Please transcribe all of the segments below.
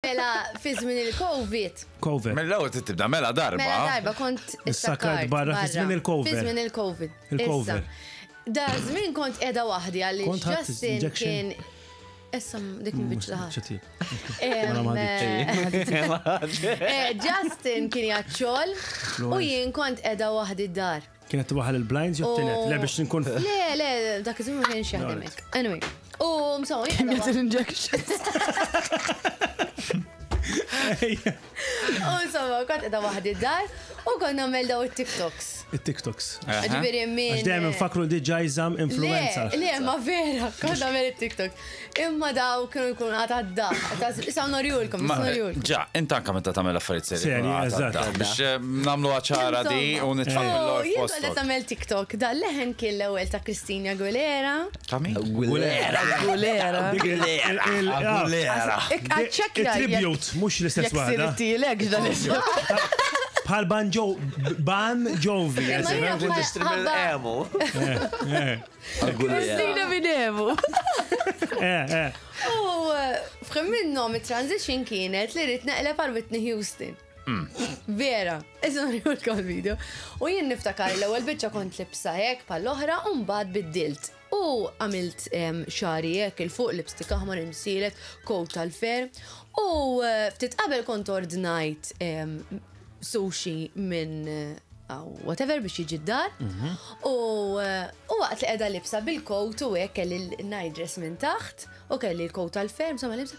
Mela, fi żmien il-Covid. Covid. Mill-ewwel trid tibda mela darba. Mela darba kont Issakkart barra fi żmien il-Covid. Fi żmien il-Covid. Il-Covid. Da żmien kont qiegħda waħdi għaliex Kont ħadt Justin injection? kien Issa dik mbiċ laħat. Eh, Justin kien jaċċol u jien kont qiegħda waħdi d-dar. Kienet waħal il-blinds jew tinet, le biex nkun. Le, le, dak iż-żmien ma kienx jaħdem hekk. Anyway, u msaw, Kien jagħti l-injection. U insomma, kont qiegħda waħdi d-dar u kont nagħmel daw it-TikToks. It-TikToks. Ġifieri min. Għax dejjem infakru li diġà jżamm influenza. Le, le, ma vera, kont nagħmel it-TikTok. Imma daw kienu jkunu għata da. Issa norjulkom, issa norjulkom. Ġa, int anka meta tagħmel affarijiet seri. Seri, eżatt. Biex eh, nagħmlu ċara di u nitfgħu Oh, mill-lor jien kont qed f'postok. nagħmel TikTok, da leħen kien l-ewwel ta' Christina Aguilera. Ta' min? Gulera. Gulera. Gulera. Ċekja. Il-tribute, mhux l-istess Jek waħda. sirtilek dan is Bħal Ban Jo, Ban Jovi. Imma jiena eżempju. bħal- Emu. Christina Binevu. Eh, eh. U fħim minnhom it-transition kienet li rrid neqleb għal Whitney Houston. Vera, issa nurjulkom il-video. U jien niftakar l-ewwel biċċa kont libsa hekk bħall-oħra u mbagħad biddilt. U għamilt xagħri hekk il fuq lipstick aħmar imsielet, coat tal-fer. U eh, ftit qabel kont ordnajt sushi minn eh, whatever biex jiġi d-dar. U eh, u waqt li qiegħda libsa bil-coat u hekk kelli l-night dress minn taħt u kelli l-coat tal-fer, insomma libsa.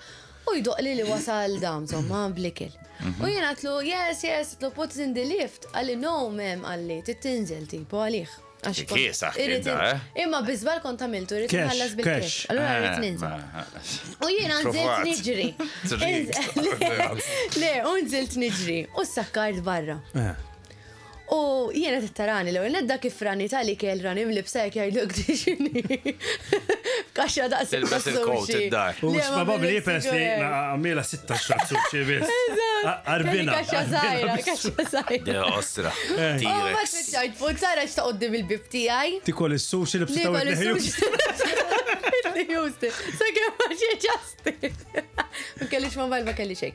U jdoqli li wasal dam, insomma, blikel. U jien għatlu, yes, yes, għatlu put it in the lift. Għalli, no, mem, għalli, titinżel tipo għalih. Għax kont- Kiesaħ kien irrid da, eh? Imma bizbal kont għamiltu, irrid Cash, nħallas bil-cash. cash. Allura rrid ninżel. U jiena nżilt Provat. niġri. Trid. Le, u nżilt niġri. U sakkart barra. Eh. U jiena tittarani l-ewwel nedda kif rani tal-ikel rani mlibsa jekk jgħidluk dixini. F'kaxxa daqs Tilbes il-coat id-dar. U probabbli peress li għamila 16 sushi biss. Arbina. Kaxxa żgħira, kaxxa żgħira. De ostra. U ma T-Rex. spiċċajt puzzara x'ta' qudiem il-bib tiegħi. Tikol is-sushi li b'sitaw Nikol is-sushi. Whitney Houston. Sakemm ma xi Justin. Ma kellix mobile ma kelli xejn.